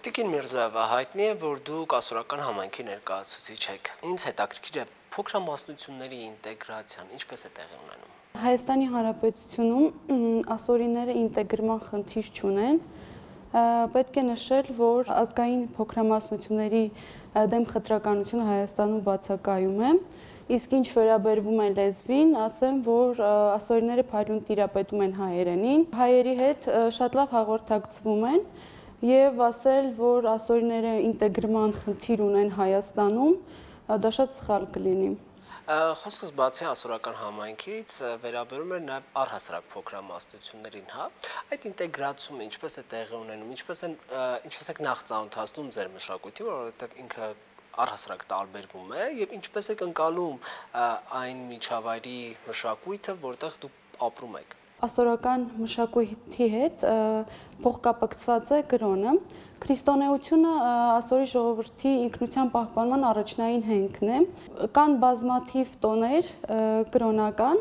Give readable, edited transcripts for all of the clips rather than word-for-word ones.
Տիկին Միրզոյeva, հայտնի է, որ դուք ասորական համայնքի ներկայացուցիչ եք։ Ինձ հետաքրքիր է փոքրամասնությունների ինտեգրացիան, ինչպես է տեղի ունենում։ Հայաստանի Հանրապետությունում ասորիները ինտեգրման խնդիր չունեն։ Պետք է նշել, որ ազգային փոքրամասնությունների դեմ խտրականությունը Հայաստանում բացակայում է։ Իսկ ինչ վերաբերվում է լեզվին, ասեմ, որ ասորիները փայլուն տիրապետում են հայերենին, հայերի հետ շատ լավ հաղորդակցվում են եւ ասել, որ ասորիները ինտեգրման խնդիր ունեն Հայաստանում, դա շատ սխալ կլինի։ Խոսքս բացի ասորական համայնքից վերաբերում էր նաև առհասարակ փոքրամասնություններին, հա։ Այդ ինտեգրացումը ինչպես է տեղի ունենում, ինչպես եք նախ ծանոթացնում ձեր մշակույթին, որովհետև ինքը առհասարակ տարբերվում է, եւ ինչպես եք ընկալում այն միջավայրի մշակույթը, որտեղ դուք ապրում եք։ Ասորական մշակույթի հետ փոխկապակցված է կրոնը։ Քրիստոնեությունը ասորի ժողովրդի ինքնության պահպանման առաջնային հենքն է։ Կան բազմաթիվ տոներ կրոնական,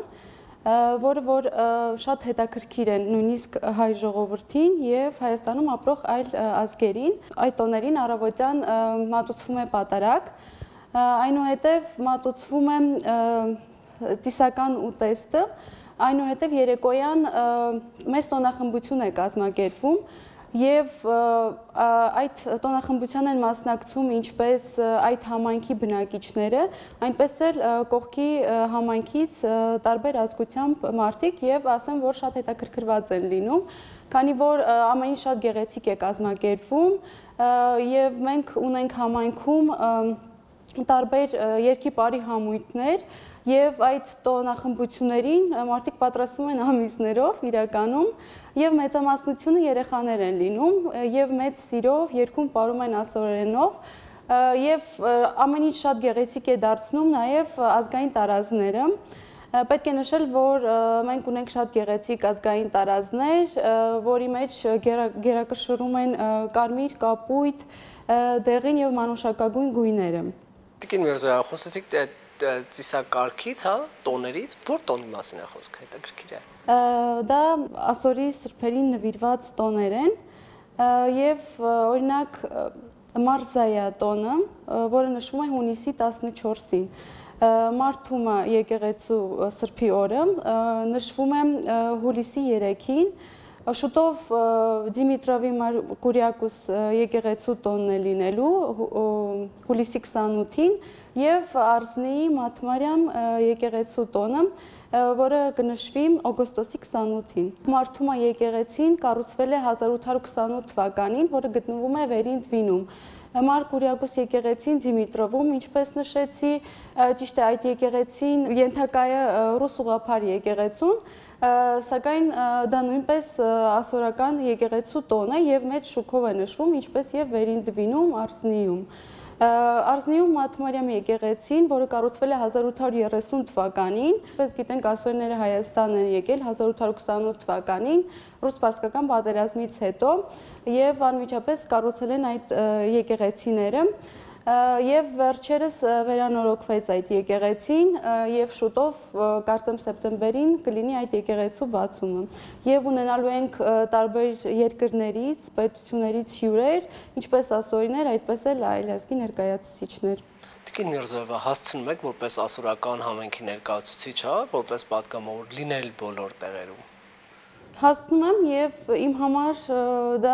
որը շատ հետաքրքիր են նույնիսկ հայ ժողովրդին եւ Հայաստանում ապրող այլ ազգերին։ Այդ տոներին առավոտյան մատուցվում է պատարագ, այնուհետև մատուցվում է ծիսական ուտեստը, այնուհետև երեկոյան մեծ տոնախմբություն է կազմակերպվում եւ այդ տոնախմբության են մասնակցում ինչպես այդ համայնքի բնակիչները, այնպես էլ կողքի համայնքից տարբեր ազգությամբ մարդիկ եւ ասեմ, որ շատ հետաքրքրված են լինում, քանի որ ամեն ինչ շատ գեղեցիկ է կազմակերպվում եւ մենք ունենք համայնքում տարբեր երկի բարի համույթներ եւ այդ տոնախմբություններին մարդիկ պատրաստվում են ամիսներով իրականում եւ մեծամասնությունը երեխաներ են լինում եւ մեծ սիրով երգում պարում են ասորերենով եւ ամեն ինչ շատ գեղեցիկ է դարձնում նաեւ ազգային տարազները։ Պետք է նշել, որ մենք ունենք շատ գեղեցիկ ազգային տարազներ, որի մեջ գերակշռում են կարմիր, կապույտ, դեղին եւ մանուշակագույն գույները։ Տիկին Միրզոյeva, խոսեցիք ծիսակարգից, հա, տոներից, որ տոնի մասին է խոսքը, հետաքրքիր է։ Դա ասորի սրբերին նվիրված տոներ են եւ օրինակ Մարզայա տոնը, որը նշվում է հունիսի 14-ին։ Մարդումը եկեղեցու սրբի օրը նշվում է հուլիսի 3-ին, շուտով Դիմիտրովի Կուրիակուս եկեղեցու տոնն է լինելու հուլիսի 28-ին եւ Արզնիի Մաթմարյամ եկեղեցու տոնը, որը կնշվի օգոստոսի 28-ին։ Մարդումը եկեղեցին կառուցվել է 1828 թվականին, որը գտնվում է Վերին Դվինում։ Մար Կուրիակուս եկեղեցին Դիմիտրովում, ինչպես նշեցի, ճիշտ է, այդ եկեղեցին ենթակա է ռուս ուղղափառ եկեղեցուն, սակայն դա նույնպես ասորական եկեղեցու տոն է եւ մեծ շուքով է նշվում, ինչպես եւ Վերին Դվինում, Արզնիում։ Արզնիում Մաթմարյամ եկեղեցին, որը կառուցվել է 1830 թվականին, ինչպես գիտենք, ասորիները Հայաստան են եկել 1828 թվականին, ռուս-պարսկական պատերազմից հետո եւ անմիջապես կառուցել են այդ եկեղեցիները եւ վերջերս վերանորոգվեց այդ եկեղեցին եւ շուտով կարծեմ սեպտեմբերին կլինի այդ եկեղեցու բացումը եւ ունենալու ենք տարբեր երկրներից, պետություններից հյուրեր, ինչպես ասորիներ, այդպես էլ այլ ազգի ներկայացուցիչներ։ Տիկին Միրզոյeva, հասցնում եք որպես ասորական համայնքի ներկայացուցիչ, հա, որպես պատգամավոր լինել բոլոր տեղերում։ Հասնում եմ եւ իմ համար դա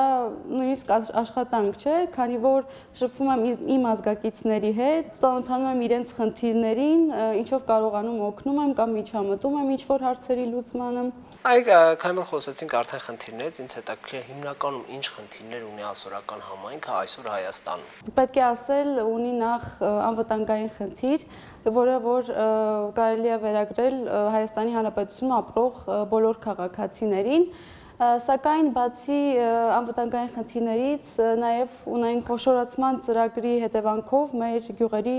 նույնիսկ աշխատանք չէ, քանի որ շփվում եմ իմ ազգակիցների հետ, ծանոթանում եմ իրենց խնդիրներին, ինչով կարողանում օգնում եմ կամ միջամտում եմ ինչ-որ հարցերի լուծմանը։ Քանի որ խոսեցինք արդեն խնդիրներից, ինձ հետաքրքիր է հիմնականում ինչ խնդիրներ ունի ասորական համայնքը այսօր Հայաստանում։ Պետք է ասել, ունի նախ անվտանգային խնդիր, որ կարելի է վերագրել Հայաստանի Հանրապետությունում ապրող բոլոր քաղաքացիներին, սակայն բացի անվտանգային խնդիրներից նաև ունենք խոշորացման ծրագրի հետևանքով մեր գյուղերի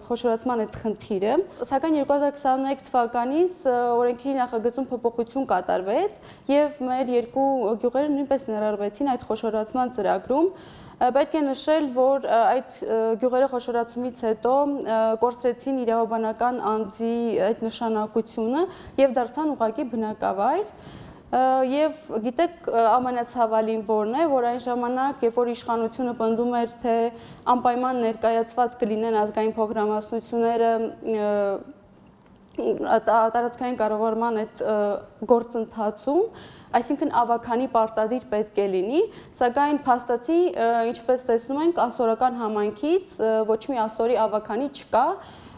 խոշորացման այդ խնդիրը, սակայն 2021 թվականից օրենքի նախագծում փոփոխություն կատարվեց եւ մեր երկու գյուղերը նույնպես ներառվեցին այդ խոշորացման ծրագրում։ Պետք է նշել, որ այդ գյուղերը խոշորացումից հետո կորցրեցին իրավաբանական անձի այդ նշանակությունը եւ դարձան ուղղակի բնակավայր։ Եվ գիտեք ամենացավալին որն է, որ այն ժամանակ, երբ որ իշխանությունը պնդում էր, թե անպայման ներկայացված կլինեն ազգային փոքրամասնությունները տարածքային կառավարման այդ գործընթացում, այսինքն ավագանի պարտադիր պետք է լինի, սակայն փաստացի, ինչպես տեսնում ենք, ասորական համայնքից ոչ մի ասորի ավագանի չկա,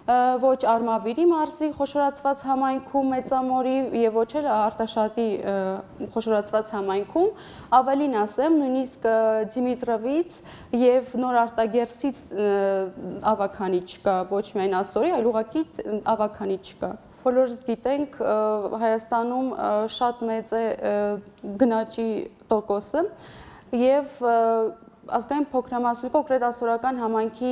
ոչ Արմավիրի մարզի խոշորացված համայնքում Մեծամորի եւ ոչ էլ Արտաշատի խոշորացված համայնքում, ավելին ասեմ, նույնիսկ Դիմիտրովից եւ Նոր Արտագերսից ավագանի չկա, ոչ միայն ասորի, այլ ուղղակի ավագանի չկա։ Բոլորս գիտենք, Հայաստանում շատ մեծ է գնաճի տոկոսը եւ ազգային փոքրամասնություն, կոնկրետ ասորական համայնքի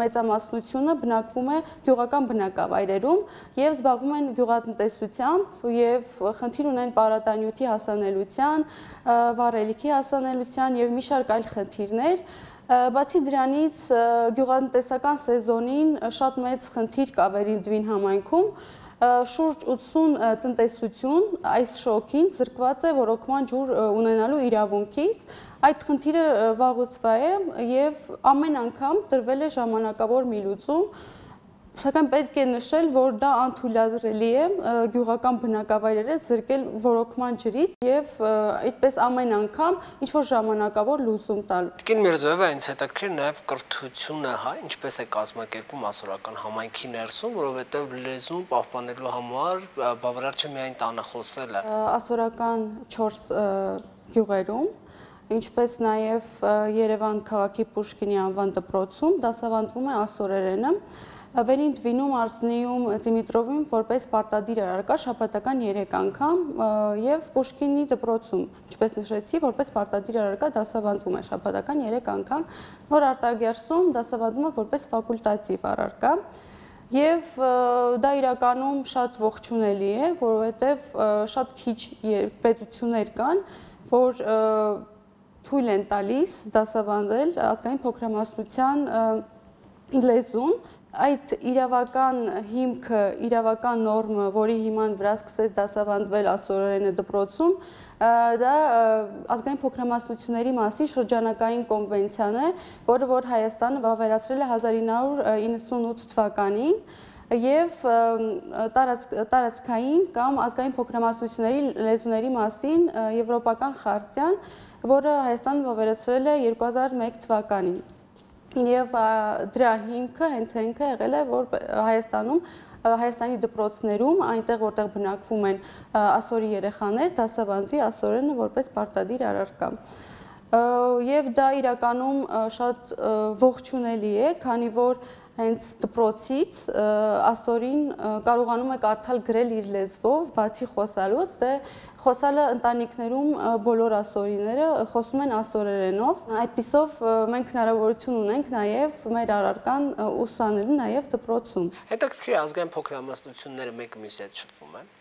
մեծամասնությունը բնակվում է գյուղական բնակավայրերում եւ զբաղվում են գյուղատնտեսությամբ եւ խնդիր ունեն պարարտանյութի հասանելիության, վառելիքի հասանելիության եւ մի շարք այլ խնդիրներ։ Բացի դրանից գյուղատնտեսական սեզոնին շատ մեծ խնդիր կա Վերին համայնքում, շուրջ 80 տնտեսություն այս շոկին զրկված է ռոռոկման ջուր ունենալու իրավունքից։ Այդ խնդիրը վաղուց է եւ ամեն անգամ տրվել է ժամանակավոր մի լուծում, սակայն պետք է նշել, որ դա անթույլատրելի է գյուղական բնակավայրերը զրկել ռոռոկման ջրից եւ այդպես ամեն անգամ ինչ որ ժամանակավոր լուծում տալ։ Տիկին Միրզոևա, ինձ հետաքրքիր նաեւ կրթությունը, հա, ինչպես է կազմակերպվում ասորական համայնքի ներսում, որովհետեւ լեզուն պահպանելու համար բավարար չէ միայն տանը խոսելը։ Ասորական 4 գյուղերում, ինչպես նաև Երևան քաղաքի Պուշկինի անվան դպրոցում դասավանդվում է ասորերենը, Վերին Դվինում, Արսնիում, Դիմիտրովին որպես պարտադիր առարկա շաբաթական 3 անգամ եւ Պուշկինի դպրոցում, ինչպես նշեցի, որպես պարտադիր առարկա դասավանդվում է շաբաթական 3 անգամ, Նոր Արտագերսում դասավանդվում է որպես ֆակուլտատիվ առարկա։ Եվ դա իրականում շատ ողջունելի է, որովհետեւ շատ քիչ պետություններ կան, որ թույլ են տալիս դասավանդել ազգային փոքրամասնության լեզուն։ Այդ իրավական հիմքը, իրավական նորմը, որի հիման վրա սկսեց դասավանդվել ասորերենը դպրոցում, դա ազգային փոքրամասնությունների մասին շրջանակային կոնվենցիան է, որը որ Հայաստանը վավերացրել է 1998 թվականին եւ տարածքային կամ ազգային փոքրամասնությունների լեզուների մասին եվրոպական խարտիան, որը Հայաստանը վավերացրել է 2001 թվականին։ Եվ դրա հիմքը հենց ինքը եղել է, որ Հայաստանի դպրոցներում, այնտեղ որտեղ բնակվում են ասորի երեխաներ, դասավանդվի ասորենը որպես պարտադիր առարկա։ Եվ դա իրականում շատ ողջունելի է, քանի որ հենց դպրոցից ասորին կարողանում է կարդալ գրել իր լեզվով, բացի խոսալուց, դե խոսալը ընտանիքներում բոլոր ասորիները խոսում են ասորերենով։ Այդպիսով մենք հնարավորություն ունենք նաև մեր առարկան ուսանելու նաև դպրոցում։ Հետաքրքիր է, ազգային փոքրամասնությունները մեկը մյուսի հետ շփվում են։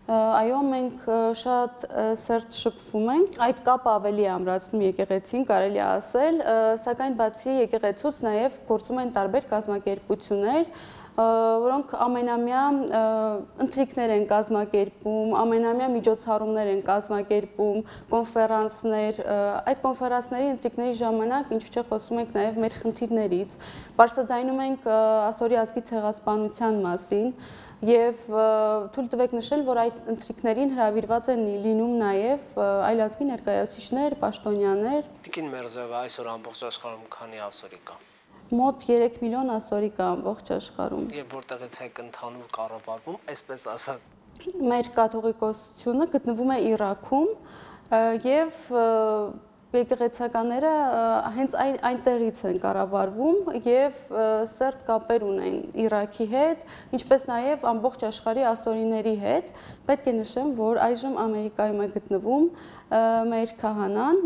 Այո, մենք շատ սերտ շփվում ենք, այդ կապը ավելի ամրացնում եկեղեցին, կարելի է ասել, սակայն բացի եկեղեցուց նաև գործում են տարբեր կազմակերպություններ, որոնք ամենամյա ընթրիքներ են կազմակերպում, ամենամյա միջոցառումներ են կազմակերպում, կոնֆերանսներ, այդ կոնֆերանսների ընթրիքների ժամանակ ինչու՞ չէ խոսում ենք նաև մեր խնդիրներից, բարձրաձայնում ենք ասորի ազգի ցեղասպանության մասին եւ թույլ տվեք նշել, որ այդ ընթրիքներին հրավիրված են լինում նաև այլազգի ներկայացուցիչներ, պաշտոնյաներ։ Տիկին Միրզոևա, այսօր ամբողջ աշխարհում քանի ասորի կա։ Մոտ 3 միլիոն ասորի կա ամբողջ աշխարհում։ Եվ որտեղից է ընդհանուր կառավարվում, այսպես ասած։ Մեր կաթողիկոսությունը գտնվում է Իրաքում եւ եկեղեցականները հենց այնտեղից են կառավարվում եւ սերտ կապեր ունեն Իրաքի հետ, ինչպես նաեւ ամբողջ աշխարհի ասորիների հետ։ Պետք է նշեմ, որ այժմ Ամերիկայում է գտնվում մեր քահանան,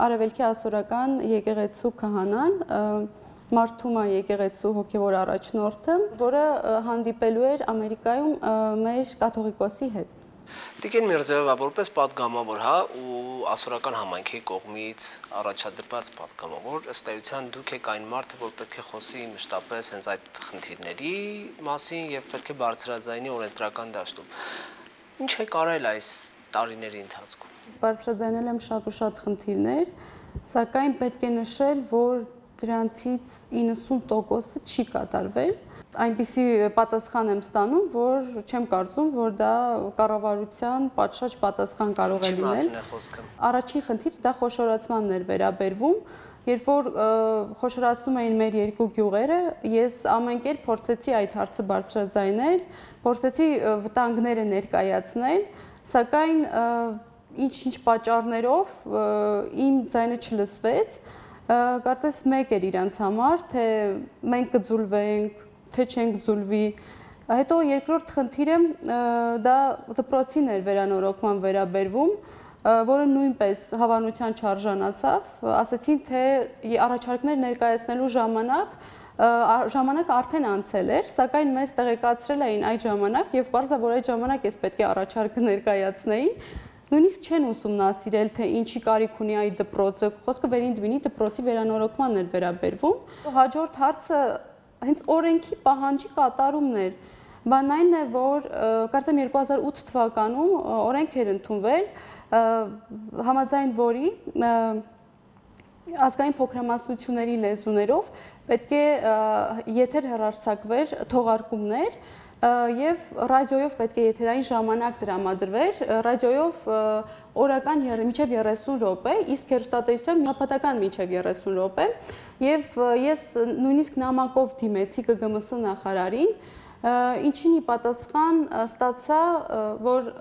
Արևելքի ասորական եկեղեցու քահանան, Մարթումա եկեղեցու հոգևոր առաջնորդը, որը հանդիպելու էր Ամերիկայում մեր կաթողիկոսի հետ։ Տիկին Միրզոևա, որպես պատգամավոր, հա, ու ասորական համայնքի կողմից առաջադրված պատգամավոր, ըստ էության դուք եք այն մարդը, որ պետք է խոսի մշտապես հենց այդ խնդիրների մասին եւ պետք է բարձրաձայնի օրենսդրական դաշտում։ Ինչ է կարել այս տարիների ընթացքում։ Բարձրաձայնել եմ շատ ու շատ խնդիրներ, սակայն պետք է նշել, որ դրանցից 90%-ը չի կատարվել։ Այնպիսի պատասխան եմ ստանում, որ չեմ կարծում, որ դա կառավարության պատշաճ պատասխան կարող է լինել։ Ինչի մասին է խոսքը։ Առաջին խնդիրը դա խոշորացմանն էր վերաբերվում, երբ որ խոշորացնում էին մեր երկու գյուղերը, ես ամեն կերպ փորձեցի այդ հարցը բարձրաձայնել, փորձեցի վտանգները ներկայացնել, սակայն ինչ-ինչ պատճառներով իմ ձայնը չլսվեց։ Կարծես մեկ էր իրանց համար, թե մենք կձուլվենք, թե չենք ձուլվի։ Հետո երկրորդ խնդիրը դա դպրոցին էր վերանորոգման վերաբերվում, որը նույնպես հավանության չարժանացավ, ասացին, թե առաջարկներ ներկայացնելու ժամանակը արդեն անցել էր, սակայն մեզ տեղեկացրել էին այդ ժամանակ եւ պարզ է, որ այդ ժամանակ ես պետք է առաջարկը ներկայացնեի, նույնիսկ չեն ուսումնասիրել, թե ինչի կարիք ունի այդ դպրոցը, խոսքը վերին դպրոցի վերանորոգմանն էր վերաբերվում։ Հաջորդ հարցը հենց օրենքի պահանջի կատարումն էր։ Բանն այն է, որ կարծեմ 2008 թվականում օրենք էր ընդունվել, համաձայն որի ազգային փոքրամասնությունների լեզուներով պետք է եթեր հեռարձակվեր թողարկումներ եւ ռադիոյով պետք է եթերային ժամանակ տրամադրվեր, ռադիոյով օրական մինչև 30 րոպե, իսկ հեռուստատեսությամբ շաբաթական մինչև 30 րոպե, եւ ես նույնիսկ նամակով դիմեցի ԿԳՄՍ նախարարին, ինչին ի պատասխան ստացա, որ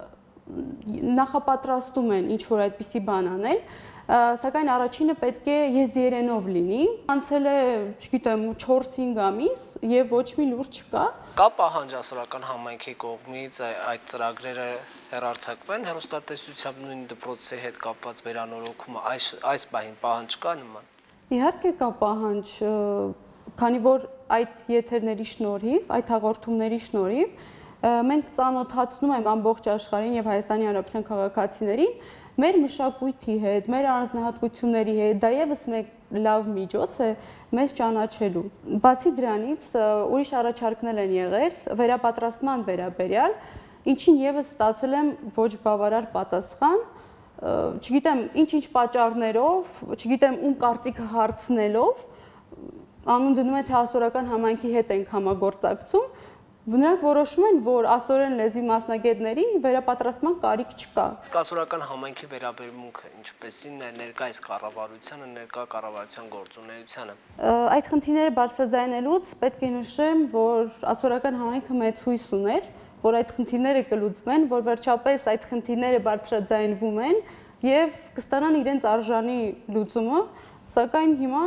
նախապատրաստում են ինչ-որ այդպիսի բան անել, սակայն առաջինը պետք է եզդիերենով լինի, անցել է, չգիտեմ, 4-5 ամիս եւ ոչ մի լուր չկա։ Կա պահանջ ասորական համայնքի կողմից այդ ծրագրերը հեռարձակվեն հեռուստատեսությամբ նույն դպրոցի հետ կապված վերանորոգումը այս բանին պահանջ կա նման։ Իհարկե կա պահանջ, քանի որ այդ եթերների շնորհիվ, այդ հաղորդումների շնորհիվ մենք ծանոթացնում ենք ամբողջ աշխարհին եւ Հայաստանի Հանրապետության քաղաքացիներին մեր մշակույթի հետ, մեր առանձնահատկությունների հետ, դա եւս մեկ լավ միջոց է մեզ ճանաչելու։ Բացի դրանից ուրիշ առաջարկներ են եղել վերապատրաստման վերաբերյալ, ինչին եւս ստացել եմ ոչ բավարար պատասխան, չգիտեմ ինչ-ինչ պատճառներով, չգիտեմ ում կարծիքը հարցնելով, անուն դնում է թե ասորական համայնքի հետ ենք համագործակցում, նրանք որոշում են, որ ասորեն լեզվի մասնագետների վերապատրաստման կարիք չկա։ Իսկ ասորական համայնքի վերաբերմունքը ինչպեսին է ներկայիս կառավարությանը, ներկա կառավարության գործունեությանը։ Այդ խնդիրները բարձրաձայնելուց պետք է նշեմ, որ ասորական համայնքը մեծ հույս ուներ, որ այդ խնդիրները կլուծվեն, որ վերջապես այդ խնդիրները բարձրաձայնվում են եւ կստանան իրենց արժանի լուծումը, սակայն հիմա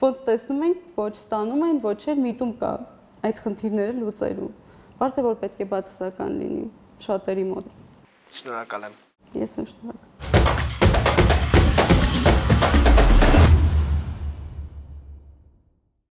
ոնց տեսնում ենք, ոչ ստանում են, ոչ էլ միտում կա այդ խնդիրները լուծելու։ Բարձր է, որ պետք է բացասական լինի շատերի մոտ։ Շնորհակալ եմ։ Ես եմ շնորհակալ։